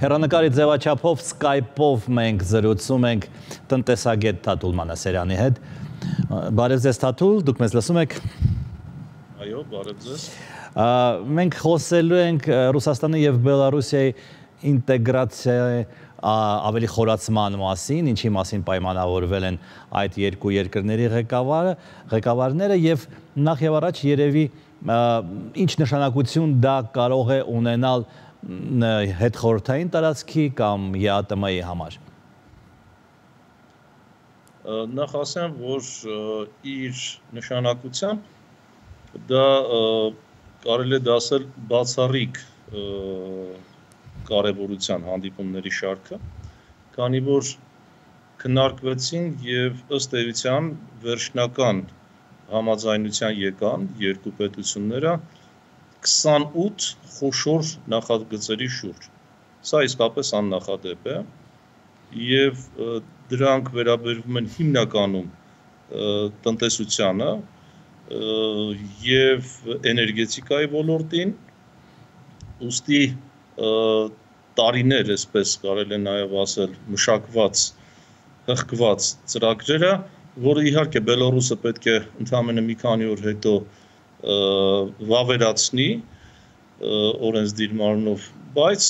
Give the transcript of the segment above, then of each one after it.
Հեռանկարի ձևաչափով Skype-ով մենք զրուցում ենք տնտեսագետ Թաթուլ Մանասերյանի հետ։ Բարև ձեզ Թաթուլ, դուք մեզ լսում եք։ Այո, բարև ձեզ։ Մենք խոսելու ենք Ռուսաստանի եւ Բելարուսիայի ինտեգրացիայի ավելի խորացման մասին, ինչի մասին պայմանավորվել են այդ երկու երկրների ղեկավարները եւ նախ եւ առաջ երևի ինչ նշանակություն դա կարող է ունենալ հետխորհրդային տարածքի կամ ԵԱՏՄ-ի համար։ Նախ ասեմ, որ իր նշանակությամբ դա կարելի է դասել բացառիկ կարևորության հանդիպումների շարքը, քանի որ քննարկվեցին եւ ըստ էության վերջնական համաձայնության եկան երկու պետությունները 28 խոշոր նախագծերի շուրջ։ Սա իսկապես աննախադեպ է եւ դրանք վերաբերվում են հիմնականում տնտեսությանը եւ էներգետիկայի ոլորտին, ուստի տարիներ, այսպես կարելի է նաեւ ասել, մշակված, հղկված ծրագրերը, որը իհարկե Բելարուսը պետք է ընդամենը մի քանի օր հետո վավերացնի օրենսդիրմանով, բայց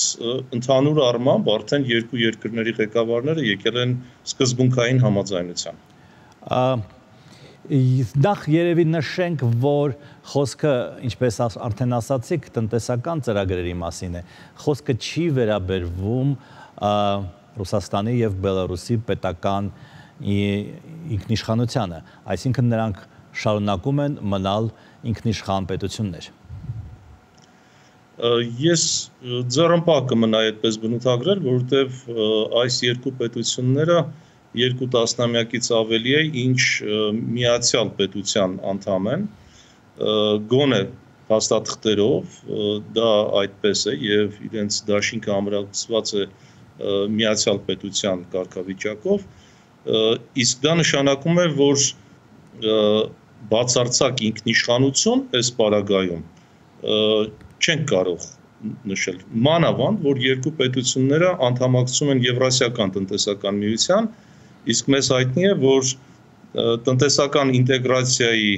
ընդհանուր առմամբ արդեն երկու երկրների ղեկավարները եկել են սկզբունքային համաձայնության։ Նախ երևի նշենք, որ խոսքը, ինչպես արդեն ասացիք, տնտեսական ծրագրերի մասին է։ Խոսքը չի վերաբերվում Ռուսաստանի եւ Բելարուսի պետական ինքնիշխանությանը, այսինքն նրանք շարունակում են մնալ ինքնիշխան պետություններ։ Ես ձեռնպահ կմնայի այդպես բնութագրել, որովհետև այս երկու պետությունները երկու տասնամյակից ավելի է, ինչ միացյալ պետության անդամ են, գոնե փաստաթղթերով, դա այդպես է եւ իրենց դաշինքը ամրացված է միացյալ պետության կարգավիճակով, իսկ դա նշանակում է, որ բացարձակ ինքնիշխանություն այս պարագայում չենք կարող նշել, մանավանդ, որ երկու պետությունները անդամակցում են Եվրասիական տնտեսական միության, իսկ մեզ հայտնի է, որ տնտեսական ինտեգրացիայի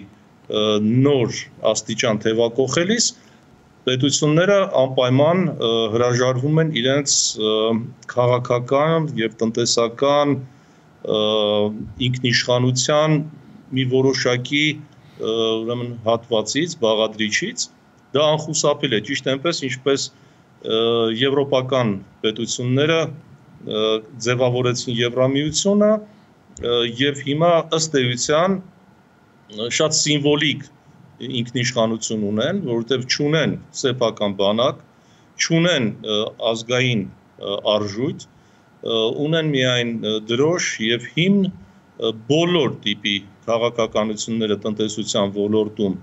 նոր աստիճան թևակողելիս պետությունները անպայման հրաժարվում են իրենց քաղաքական եւ տնտեսական ինքնիշխանության մի որոշակի ուրեմն հատվածից, բաղադրիչից, դա անխուսափելի է, ճիշտ այնպես, ինչպես եվրոպական պետությունները ձևավորեցին Եվրամիությունը եւ հիմա ըստ էության շատ սիմվոլիկ ինքնիշխանություն ունեն, որովհետեւ չունեն սեփական բանակ, չունեն ազգային արժույթ, ունեն միայն դրոշ եւ հիմն բոլոր տիպի քաղաքականությունները տնտեսության ոլորտում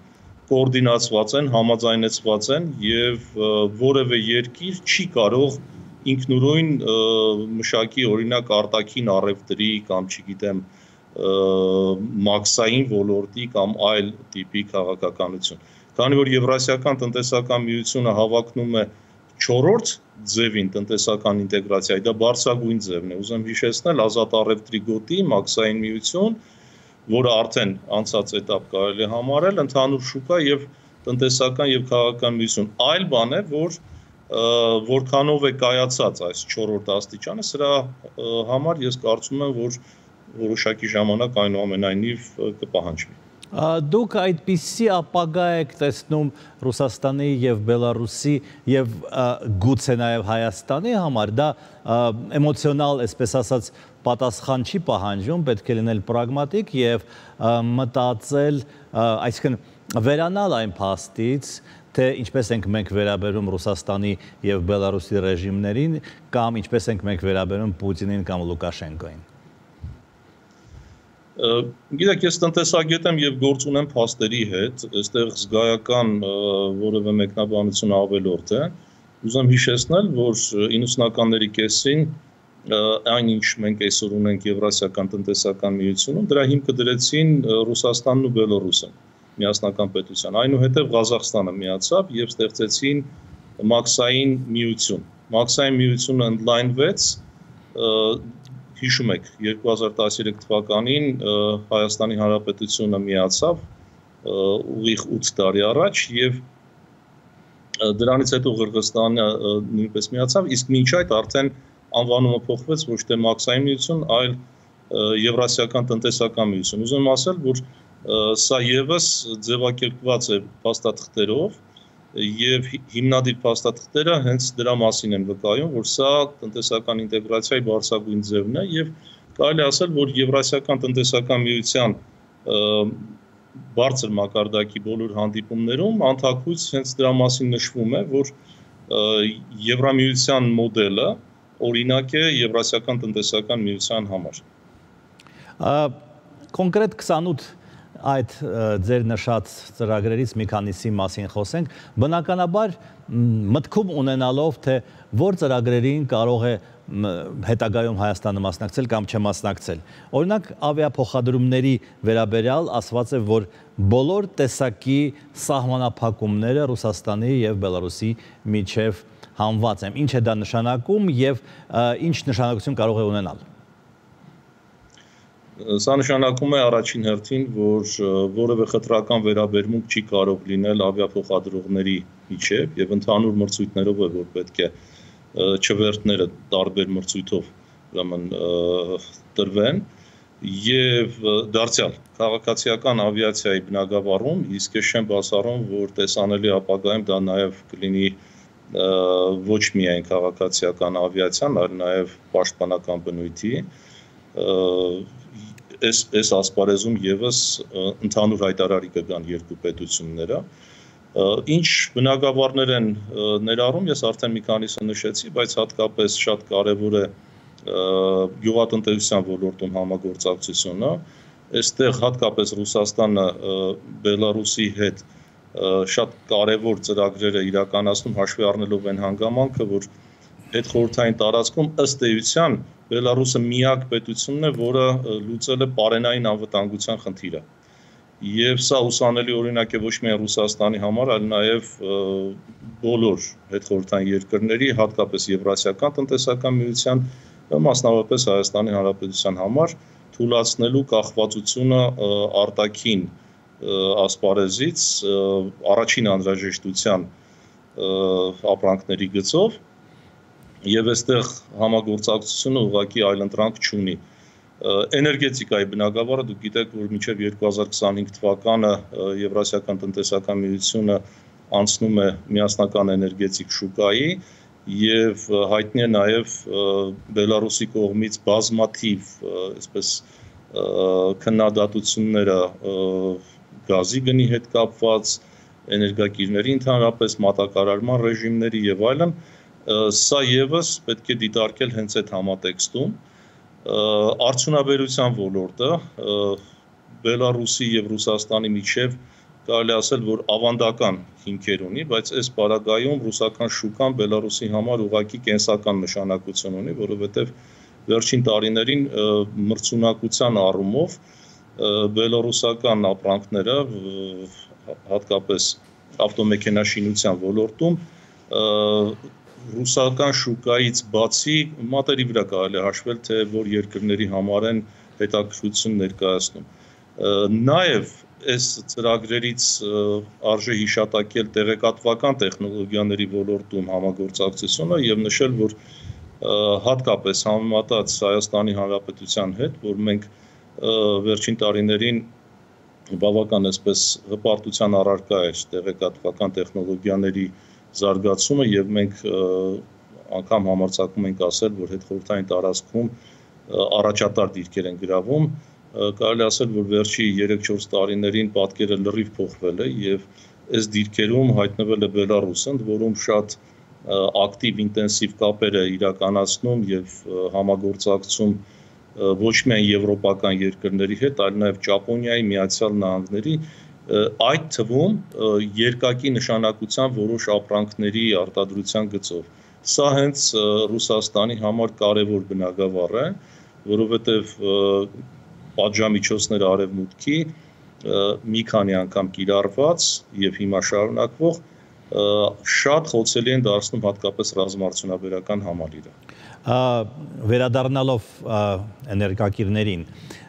կոորդինացված են, համաձայնեցված են եւ որևէ երկիր չի կարող ինքնուրույն մշակի օրինակ արտաքին առևտրի կամ չգիտեմ մաքսային ոլորտի կամ այլ տիպի քաղաքականություն։ Քանի որ Եվրասիական տնտեսական միությունը հավակնում է 4-րդ ձևին տնտեսական ինտեգրացիայի, դա բարձրագույն ձևն է։ Ուզում հիշեցնել ազատ առևտրի գոտի, մաքսային միություն, որը արդեն անցած էտապ կարելի է համարել, ընդհանուր շուկա եւ տնտեսական եւ քաղաքական միություն։ Այլ բան է, որ որքանով է կայացած այս 4-րդ աստիճանը, սրա համար ես կարծում եմ, որ որոշակի ժամանակ այնուամենայնիվ կպահանջվի։ Դուք այդպիսի ապագա եք տեսնում Ռուսաստանի եւ Բելարուսի եւ գուցե նաեւ Հայաստանի համար, դա էմոցիոնալ, այսպես ասած, պատասխան չի պահանջում, պետք է լինել պրագմատիկ եւ մտածել, այսինքն վերանալ այն փաստից, թե ինչպես ենք մենք վերաբերում Ռուսաստանի եւ Բելարուսի ռեժիմներին կամ ինչպես ենք մենք վերաբերում Պուտինին կամ Լուկաշենկոին։ Գիտեք, ես տնտեսագետ եմ եւ գործ ունեմ փաստերի հետ, այստեղ զգայական որևէ մեկնաբանություն ավելորդ է։ Ուզում հիշեցնել, որ 90-ականների կեսին այն ինչ մենք այսօր ունենք Եվրասիական տնտեսական միությունում, դրա հիմքը դրեցին Ռուսաստանն ու Բելարուսը։ միասնական պետության։ Այնուհետև Ղազախստանը միացավ եւ ստեղծեցին Մաքսային միություն։ Մաքսային միությունը ընդլայնվեց, հիշում եք, 2013 թվականին Հայաստանի Հանրապետությունը միացավ ուղիղ 8 տարի առաջ եւ դրանից հետո Ղրղըզստանը նույնպես միացավ, իսկ մինչ այդ արդեն անվանումը փոխվեց ոչ թե Մաքսային միություն, այլ Եվրասիական տնտեսական միություն։ Ուզում եմ ասել, որ սա եւս ձևակերպված է փաստաթղթերով եւ հիմնադիր փաստաթղթերը հենց դրա մասին են վկայում, որ սա տնտեսական ինտեգրացիայի բարձրագույն ձևն է եւ կարելի ասել, որ Եվրասիական տնտեսական միության բարձր մակարդակի բոլոր հանդիպումներում անդակույց հենց դրա մասին նշվում է, որ Եվրամիության մոդելը օրինակ է Եվրասիական տնտեսական միության համար։ Կոնկրետ 28 այդ ձեր նշած ծրագրերից մի քանիսի մասին խոսենք, բնականաբար մտքում ունենալով, թե որ ծրագրերին կարող է հետագայում Հայաստանը մասնակցել կամ չմասնակցել։ Օրինակ, ավիափոխադրումների վերաբերյալ ասված է, որ բոլոր տեսակի սահմանափակումները Ռուսաստանի եւ Բելարուսի միջև հանված են։ Ինչ է դա նշանակում եւ ինչ նշանակություն կարող է ունենալ։ Սա նշանակում է առաջին հերթին, որ որևէ խտրական վերաբերմունք չի կարող լինել ավիափոխադրողների միջև եւ ընդհանուր մրցույթներով է, որ պետք է չվերթները տարբեր մրցույթով ուրեմն տրվեն եւ դարձյալ քաղաքացիական ավիացիայի բնագավառում իսկ ես չեմ բացառում, որ տեսանելի ապագայում դա նաեւ կլինի ոչ միայն քաղաքացիական ավիացիան, այլ նաեւ պաշտպանական բնույթի այս ասպարեզում եւս ընդհանուր հայտարարի կգան երկու պետությունները։ Ինչ բնագավառներ են ներառում, ես արդեն մի քանիսը նշեցի, բայց հատկապես շատ կարևոր է գյուղատնտեսության ոլորտում համագործակցությունը։ Այստեղ հատկապես Ռուսաստանը Բելարուսի հետ շատ կարևոր ծրագրեր է իրականացնում, հաշվի առնելով այն հանգամանքը, որ հետխորհրդային տարածքում ըստ էության Բելարուսը միակ պետությունն է, որը լուծել է պարենային անվտանգության խնդիրը։ Եվ սա ուսանելի օրինակ է ոչ միայն Ռուսաստանի համար, այլ նաև բոլոր հետխորհրդային երկրների, հատկապես Եվրասիական տնտեսական միության, մասնավորապես Հայաստանի Հանրապետության համար, թույլատնելու կախվածությունը արտաքին ասպարեզից առաջին անհրաժեշտության ապրանքների գծով եւ այստեղ համագործակցությունը ուղղակի այլընտրանք չունի։ Էներգետիկայի բնագավառը դուք գիտեք, որ մինչև 2025 թվականը Եվրասիական տնտեսական միությունը անցնում է միասնական էներգետիկ շուկայի եւ հայտնի է նաեւ Բելարուսի կողմից բազմաթիվ, այսպես քննադատությունները գազի գնի հետ կապված, էներգակիրների ընդհանրապես մատակարարման ռեժիմների եւ այլն, սա եւս պետք է դիտարկել հենց այդ համատեքստում։ Արդյունաբերության ոլորտը Բելարուսի եւ Ռուսաստանի միջև կարելի ասել, որ ավանդական հիմքեր ունի, բայց այս պարագայում ռուսական շուկան Բելարուսի համար ուղղակի կենսական նշանակություն ունի, որովհետեւ վերջին տարիներին մրցունակության առումով բելարուսական ապրանքները, հատկապես ավտոմեքենաշինության ոլորտում, ռուսական շուկայից բացի մատերի վրա կարելի հաշվել, թե որ երկրների համար են հետաքրքրություն ներկայացնում։ Նաև այս ծրագրերից արժե հիշատակել տեղեկատվական տեխնոլոգիաների ոլորտում համագործակցությունը եւ նշել, որ հատկապես համեմատած Հայաստանի Հանրապետության հետ, որ մենք վերջին տարիներին բավական այսպես հպարտության առարկա էր տեղեկատվական տեխնոլոգիաների զարգացումը եւ մենք անգամ համարձակում ենք ասել, որ հետխորհրդային տարածքում առաջատար դիրքեր են գրավում, կարելի ասել, որ վերջի 3-4 տարիներին պատկերը լրիվ փոխվել է եւ այս դիրքերում հայտնվել է Բելարուսը, ընդ որում շատ ակտիվ ինտենսիվ կապեր է իրականացնում եւ համագործակցում ոչ միայն եվրոպական երկրների հետ, այլ նաեւ Ճապոնիայի, Միացյալ Նահանգների, այդ թվում երկակի նշանակության որոշ ապրանքների արտադրության գծով։ Սա հենց Ռուսաստանի համար կարևոր բնագավառ է, որովհետև պատժամիջոցները արևմուտքի մի քանի անգամ կիրառված եւ հիմա շարունակվող շատ խոցելի են դարձնում հատկապես ռազմաարդյունաբերական համալիրը։ Վերադառնալով էներգակիրներին,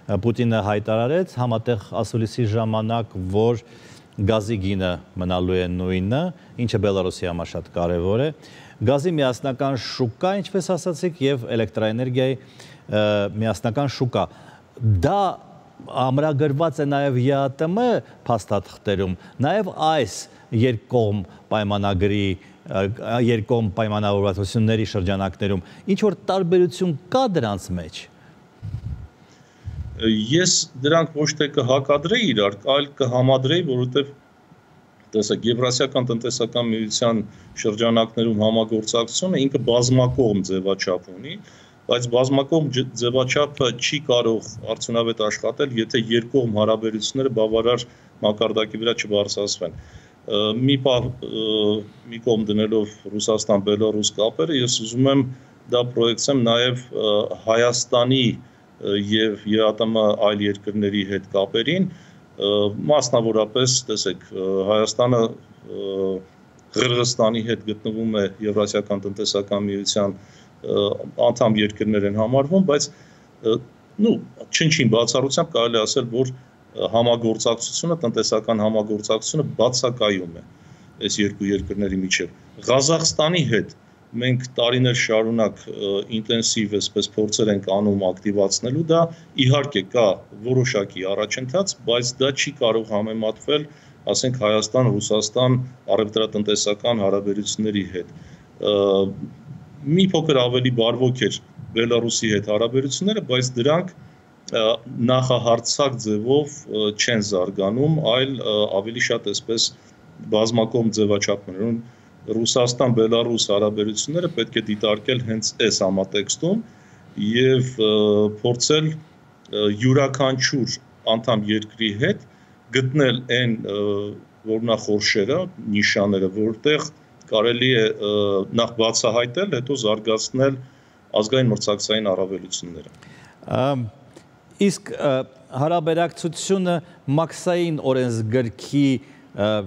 Պուտինը հայտարարեց համատեղ ասուլիսի ժամանակ, որ գազի գինը մնալու է նույնը, ինչը Բելարուսի համար շատ կարևոր է։ Գազի միասնական շուկա, ինչպես ասացիք, եւ էլեկտրաէներգիայի միասնական շուկա։ Դա ամրագրված է նաև ԵԱՏՄ փաստաթղթերում, նաև այս երկկողմ պայմանագրի երկկողմ պայմանավորվածությունների շրջանակներում ինչ որ տարբերություն կա դրանց մեջ։ Ես դրանք ոչ թե կհակադրեի իրար, այլ կհամադրեի, որովհետև տեսեք, Եվրասիական տնտեսական միության շրջանակներում համագործակցությունը ինքը բազմակողմ ձևաչափ ունի, բայց բազմակողմ ձևաչափը չի կարող արդյունավետ աշխատել, եթե երկկողմ հարաբերությունները բավարար մակարդակի վրա չբարձրացվեն։ Մի կողմ դնելով Ռուսաստան-Բելարուս կապերը, ես ուզում եմ դա պրոյեկցեմ նաև Հայաստանի եւ ԵԱՏՄ այլ երկրների հետ կապերին, մասնավորապես, տեսեք, Հայաստանը Ղրղստանի հետ գտնվում է Եվրասիական տնտեսական միության անդամ երկրներ են համարվում, բայց չնչին բացառությամբ կարելի ասել, որ համագործակցությունը, տնտեսական համագործակցությունը բացակայում է այս երկու երկրների միջև։ Ղազախստանի հետ մենք տարիներ շարունակ ինտենսիվ այսպես փորձեր ենք անում ակտիվացնելու, դա իհարկե կա որոշակի առաջընթաց, բայց դա չի կարող համեմատվել, ասենք, Հայաստան-Ռուսաստան առևտրատնտեսական հարաբերությունների հետ։ Մի փոքր ավելի բարվոք էր Բելարուսի հետ հարաբերությունները, բայց դրանք նախահարցակ ձևով չեն զարգանում, այլ ավելի շատ այսպես բազմակողմ ձևաչափներում Ռուսաստան-Բելարուս հարաբերությունները պետք է դիտարկել հենց այս համատեքստում եւ փորձել յուրաքանչյուր անդամ երկրի հետ գտնել այն որնախորշերը, նիշաները, որտեղ կարելի է նախ բացահայտել, հետո զարգացնել ազգային մրցակցային առավելությունները։ Իսկ հարաբերակցությունը մաքսային օրենսգրքի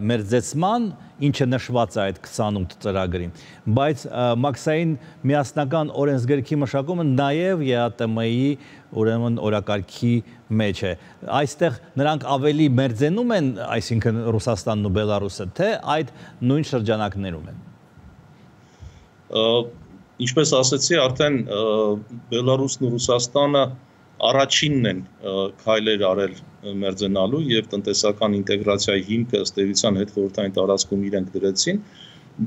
մերձեցման, ինչը նշված է այդ 28 ծրագրին, բայց մաքսային միասնական օրենսգրքի մշակումը նաև ԵԱՏՄ-ի ուրեմն օրակարգի մեջ է։ Այստեղ նրանք ավելի մերձենում են, այսինքն Ռուսաստանն ու Բելարուսը, թե այդ նույն շրջանակներում են։ Ինչպես ասացի, արդեն Բելարուսն ու Ռուսաստանը առաջինն են քայլեր արել մերձենալու եւ տնտեսական ինտեգրացիայի հիմքը ըստ էության հետխորհրդային տարածքում իրենք դրեցին,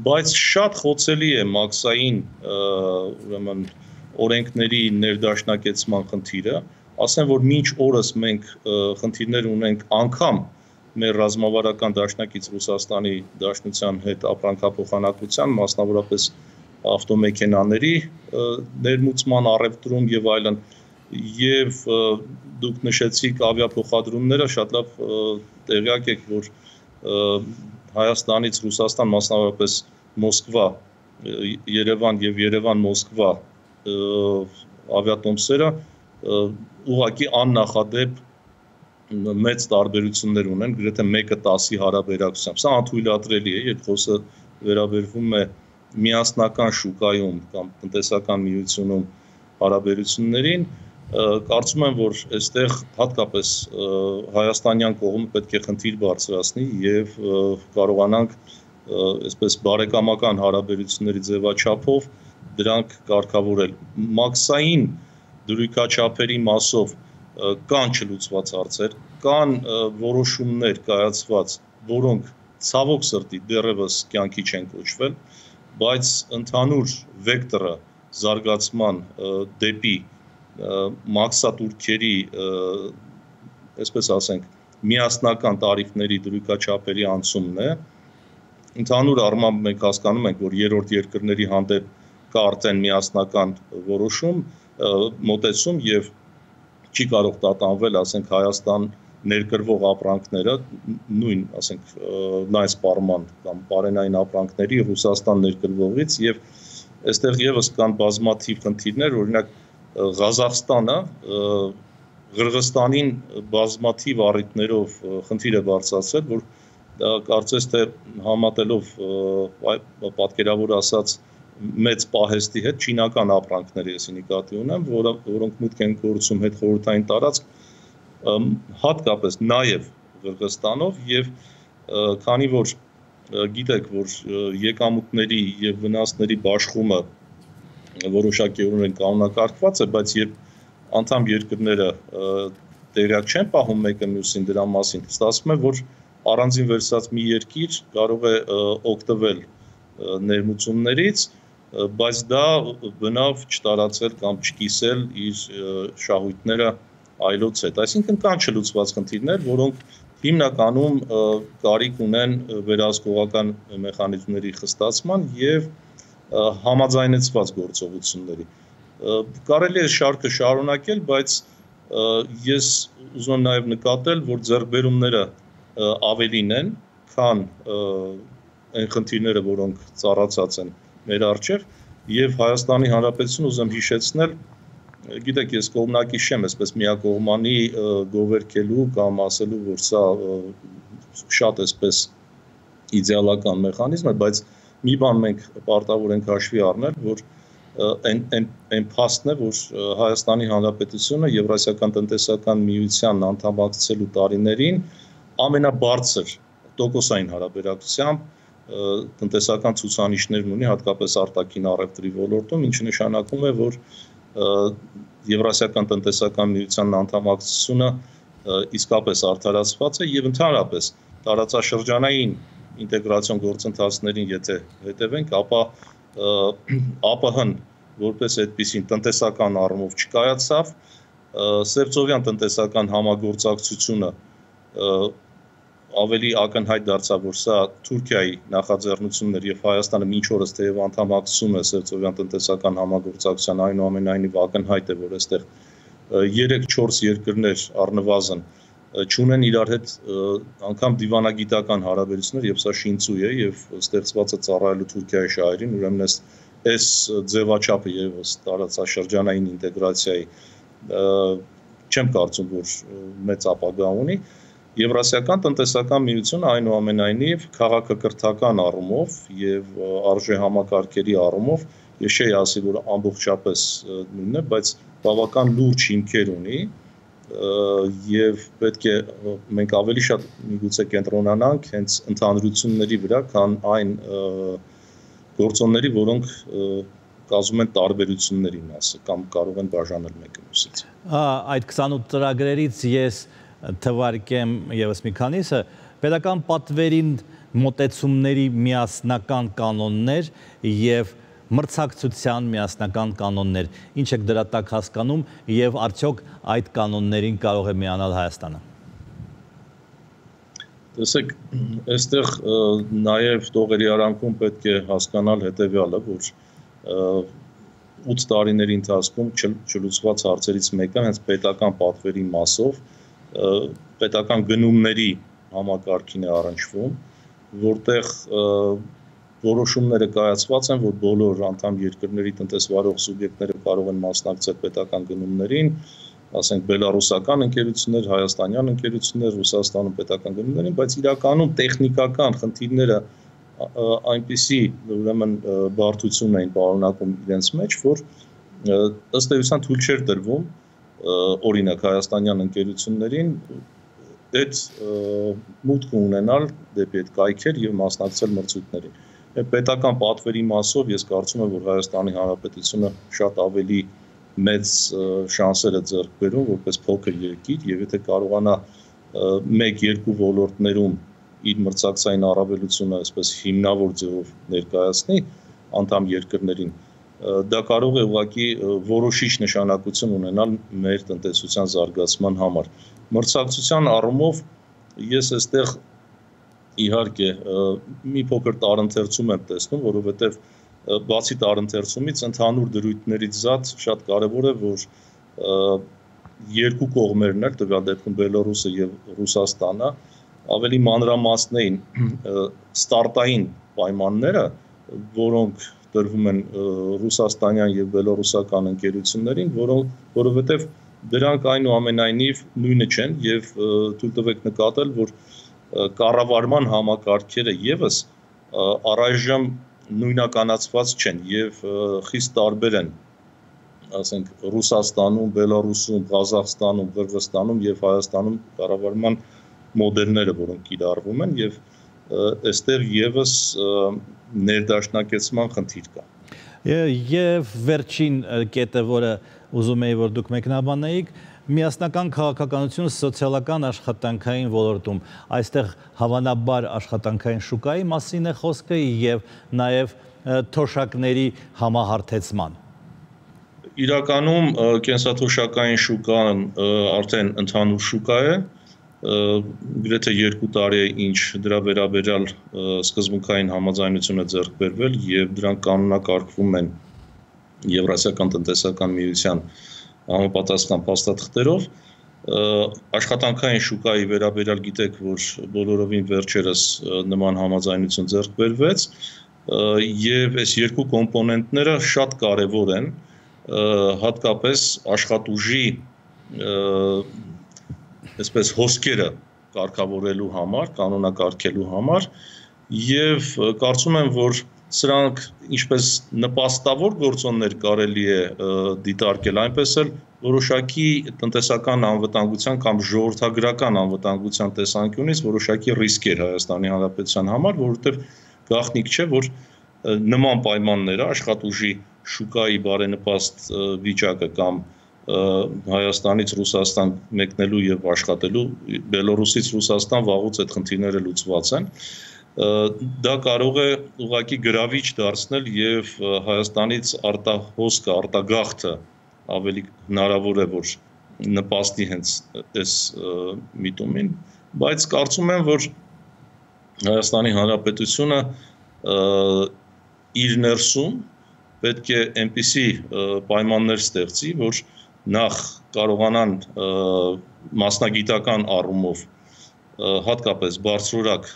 բայց շատ խոցելի է մաքսային ուրեմն օրենքների ներդաշնակեցման խնդիրը, ասեմ, որ մինչ օրս մենք խնդիրներ ունենք անգամ մեր ռազմավարական դաշնակից Ռուսաստանի Դաշնության հետ ապրանքափոխանակության, մասնավորապես ավտոմեքենաների ներմուծման առևտրում եւ այլն, եւ դուք նշեցիք ավիափոխադրումները, շատ լավ տեղյակ եք, որ Հայաստանից Ռուսաստան, մասնավորապես Մոսկվա, Երևան եւ Երևան-Մոսկվա ավիատոմսերը ուղղակի աննախադեպ մեծ տարբերություններ ունեն, գրեթե 1:10-ի հարաբերակցությամբ։ Սա անթույլատրելի է, երբ խոսքը վերաբերվում է միասնական շուկայում կամ տնտեսական միությունում հարաբերություններին, կարծում եմ, որ այստեղ հատկապես հայաստանյան կողմը պետք է խնդիր բարձրացնի եւ կարողանանք այսպես բարեկամական հարաբերությունների ձևաչափով դրանք կարգավորել։ Մաքսային դրույքաչափերի մասով կան չլուծված հարցեր, կան որոշումներ կայացված, որոնք ցավոք սրտի դեռևս կյանքի չեն կոչվել, բայց ընդհանուր վեկտորը զարգացման դեպի մաքսատուրքերի, այսպես ասենք, միասնական տարիֆների դրույքաչափերի անցումն է։ Ընդհանուր առմամբ մենք հասկանում ենք, որ երրորդ երկրների հանդեպ կա արդեն միասնական որոշում, մոտեցում եւ չի կարող տատանվել, ասենք, Հայաստան ներկրվող ապրանքները նույն, ասենք, նայս պարման կամ բարենային ապրանքների Ռուսաստան ներկրվողից եւ այստեղ եւս կան բազմաթիվ խնդիրներ, օրինակ Ղազախստանը Ղրղստանին բազմաթիվ առիթներով խնդիր է բարձրացրել, որ դա կարծես թե համատելով պատկերավոր ասած մեծ պահեստի հետ չինական ապրանքների էսի նկատի ունեմ, որոնք մուտք են գործում հետխորհրդային տարածք, հատկապես նաև Ղրղստանով եւ քանի որ գիտեք, որ եկամուտների եւ վնասների բաշխումը որոշակիորեն կանոնակարգված է, բայց երբ անդամ երկրները տեղյակ չեն պահում մեկը մյուսին դրա մասին, ստացվում է, որ առանձին վերցած մի երկիր կարող է օգտվել ներմուծումներից, բայց դա բնավ չտարածել կամ չկիսել իր շահույթները այլոց հետ։ Այսինքն կան չլուծված խնդիրներ, որոնք հիմնականում կարիք ունեն վերահսկողական մեխանիզմների խստացման եւ համաձայնեցված գործողությունների։ Կարելի է շարքը շարունակել, բայց ես ուզում եմ նաեւ նկատել, որ ձեռքբերումները ավելին են, քան այն խնդիրները, որոնք ծառացած են մեր առջև, եւ Հայաստանի Հանրապետությունը ուզում հիշեցնել, գիտեք, ես կողմնակի չեմ, այսպես միակողմանի գովերքելու կամ ասելու, որ սա շատ այսպես իդեալական մեխանիզմ է, բայց մի բան մենք պարտավոր ենք հաշվի առնել, որ այն փաստն է, որ Հայաստանի Հանրապետությունը Եվրասիական տնտեսական միության անդամակցելու տարիներին ամենաբարձր տոկոսային հարաբերակցությամբ տնտեսական ցուցանիշներն ունի, հատկապես արտաքին առևտրի ոլորտում, ինչը նշանակում է, որ Եվրասիական տնտեսական միության անդամակցությունը իսկապես արդարացված է եւ ընդհանրապես տարածաշրջանային ինտեգրացիոն գործընթացներին եթե հետևենք, ապա ԱՊՀ-ն որպես այդպիսին տնտեսական առումով չկայացավ, Սևծովյան տնտեսական համագործակցությունը ավելի ակնհայտ դարձավ, որ սա Թուրքիայի նախաձեռնությունն էր եւ Հայաստանը մինչ օրս թեև անդամակցում է Սևծովյան տնտեսական համագործակցության, այնուամենայնիվ ակնհայտ է, որ այստեղ 3-4 երկրներ առնվազն չունեն իրար հետ անգամ դիվանագիտական հարաբերություններ, եւ սա շինծու է եւ ստեղծված է ծառայելու Թուրքիայի շահերին, ուրեմն այս ձևաչափը եւս տարածաշրջանային ինտեգրացիայի չեմ կարծում, որ մեծ ապագա ունի։ Եվրասիական տնտեսական միությունը այնուամենայնիվ քաղաքակրթական առումով եւ արժեհամակարգերի առումով ես չէի ասի, որ ամբողջապես նույնն է, բայց բավական լուրջ հիմքեր ունի եւ պետք է մենք ավելի շատ միգուցե կենտրոնանանք հենց ընդհանրությունների վրա, քան այն գործոնների, որոնք կազմում են տարբերությունների մասը կամ կարող են բաժանել մեկը մյուսից։ Այդ 28 ծրագրերից ես թվարկեմ եւս մի քանիսը, պետական պատվերին մոտեցումների միասնական կանոններ եւ մրցակցության միասնական կանոններ, ինչ եք դրա տակ հասկանում եւ արդյոք այդ կանոններին կարող է միանալ Հայաստանը։ Տեսեք, այստեղ նաեւ տողերի արանքում պետք է հասկանալ հետեւյալը, որ 8 տարիների ընթացքում չլուծված հարցերից մեկը հենց պետական պատվերի մասով պետական գնումների համակարգին է առնչվում, որտեղ որոշումները կայացված են, որ բոլոր անդամ երկրների տնտեսվարող սուբյեկտները կարող են մասնակցել պետական գնումներին, ասենք բելարուսական ընկերություններ, հայաստանյան ընկերություններ, Ռուսաստանում պետական գնումներին, բայց իրականում տեխնիկական խնդիրները այնպիսի ուրեմն բարդություն էին պարունակում իրենց մեջ, որ ըստ էության թույլ չէր տրվում օրինակ հայաստանյան ընկերություններին այդ մուտք ունենալ դեպի այդ կայքեր եւ մասնակցել մրցույթներին։ Պետական պատվերի մասով ես կարծում եմ, որ Հայաստանի Հանրապետությունը շատ ավելի մեծ շանսեր է ձեռք բերում որպես փոքր երկիր եւ եթե կարողանա 1-2 ոլորտներում իր մրցակցային առավելությունը այսպես հիմնավոր ձևով ներկայացնի անդամ երկրներին, դա կարող է ուղղակի որոշիչ նշանակություն ունենալ մեր տնտեսության զարգացման համար։ Մրցակցության առումով ես այստեղ իհարկե մի փոքր տարընթերցում եմ տեսնում, որովհետև բացի տարընթերցումից ընդհանուր դրույթներից զատ շատ կարևոր է, որ երկու կողմերն էլ, տվյալ դեպքում Բելարուսը եւ Ռուսաստանը, ավելի մանրամասնային ստարտային պայմանները, որոնք տրվում են ռուսաստանյան եւ բելարուսական ընկերություններին, որովհետեւ դրանք այնուամենայնիվ նույնը չեն եւ թույլ տվեք նկատել, որ կառավարման համակարգերը եւս առայժմ նույնականացված չեն եւ խիստ տարբեր են, ասենք Ռուսաստանում, Բելարուսում, Ղազախստանում, Qırğızstանում եւ Հայաստանում կառավարման մոդելները, որոնք կիրառվում են եւ այստեղ եւս ներդաշնակեցման խնդիր կա։ Եվ վերջին կետը, որը ուզում էի, որ դուք մեկնաբանեիք, միասնական քաղաքականություն սոցիալական աշխատանքային ոլորտում, այստեղ հավանաբար աշխատանքային շուկայի մասին է խոսքը եւ նաեւ թոշակների համահարթեցման։ Իրականում կենսաթոշակային շուկան արդեն ընդհանուր շուկա է, գրեթե 2 տարի է ինչ դրա վերաբերյալ սկզբունքային համաձայնություն է ձեռք բերվել եւ դրանք կանոնակարգվում են Եվրասիական տնտեսական միության համապատասխան փաստաթղթերով, աշխատանքային շուկայի վերաբերյալ գիտեք, որ բոլորովին վերջերս նման համաձայնություն ձեռք բերվեց եւ այս երկու կոմպոնենտները շատ կարեւոր են, հատկապես աշխատուժի այսպես հոսքերը կարգավորելու համար, կանոնակարգելու համար եւ կարծում եմ, որ սրանք ինչպես նպաստավոր գործոններ կարելի է դիտարկել, այնպես էլ որոշակի տնտեսական անվտանգության կամ ժողովրդագրական անվտանգության տեսանկյունից որոշակի ռիսկեր Հայաստանի Հանրապետության համար, որովհետեւ գաղտնիք չէ, որ նման պայմանները աշխատուժի շուկայի բարենպաստ վիճակը կամ Հայաստանից Ռուսաստան մեկնելու եւ աշխատելու, Բելարուսից Ռուսաստան վաղուց այդ խնդիրները լուծված են, դա կարող է ուղղակի գրավիչ դարձնել եւ Հայաստանից արտահոսքը, արտագաղթը ավելի հնարավոր է, որ նպաստի հենց այս միտումին, բայց կարծում եմ, որ Հայաստանի Հանրապետությունը իր ներսում պետք է այնպիսի պայմաններ ստեղծի, որ նախ կարողանան մասնագիտական առումով հատկապես բարձրորակ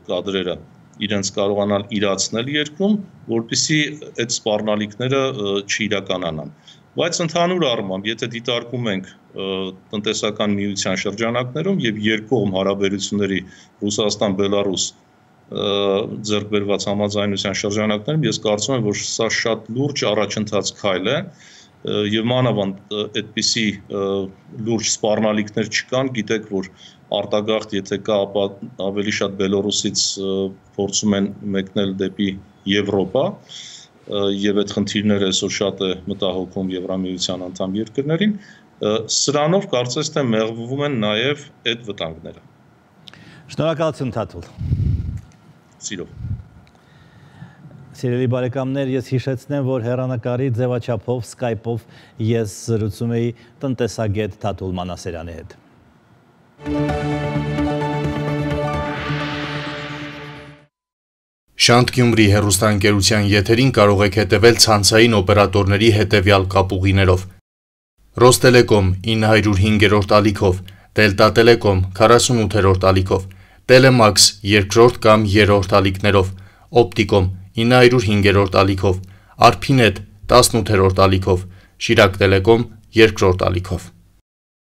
կադրերը իրենց կարողանալ իրացնել երկրում, որպեսզի այդ սպառնալիքները չիրականանան։ Բայց ընդհանուր առմամբ, եթե դիտարկում ենք տնտեսական միության շրջանակներում եւ երկկողմ հարաբերությունների Ռուսաստան-Բելարուս ձեռք բերված համաձայնության շրջանակներում, ես կարծում եմ, որ սա շատ լուրջ առաջընթաց քայլ է եւ մանավանդ այդպիսի լուրջ սպառնալիքներ չկան, գիտեք, որ արտագաղթ եթե կա, ապա ավելի շատ Բելարուսից փորձում են մեկնել դեպի Եվրոպա եւ այդ խնդիրները այսօր շատ է մտահոգում Եվրամիության անդամ երկրներին, սրանով կարծես թե մեղվում են նաեւ այդ վտանգները։ Շնորհակալություն Թաթուլ։ Սիրով։ Սիրելի բարեկամներ, ես հիշեցնեմ, որ հեռանկարի ձևաչափով Skype-ով ես զրուցում էի տնտեսագետ Թաթուլ Մանասերյանի հետ։ Շանթ Գյումրի հեռուստաընկերության եթերին կարող եք հետևել ցանցային օպերատորների հետևյալ կապուղիներով. Ռոստելեկոմ 905-րդ ալիքով, Դելտա Տելեկոմ 48-րդ ալիքով, Տելեմաքս 2-րդ կամ 3-րդ ալիքներով, Օպտիկոմ 905-րդ ալիքով, Արփինետ 18-րդ ալիքով, Շիրակ Տելեկոմ 2-րդ ալիքով։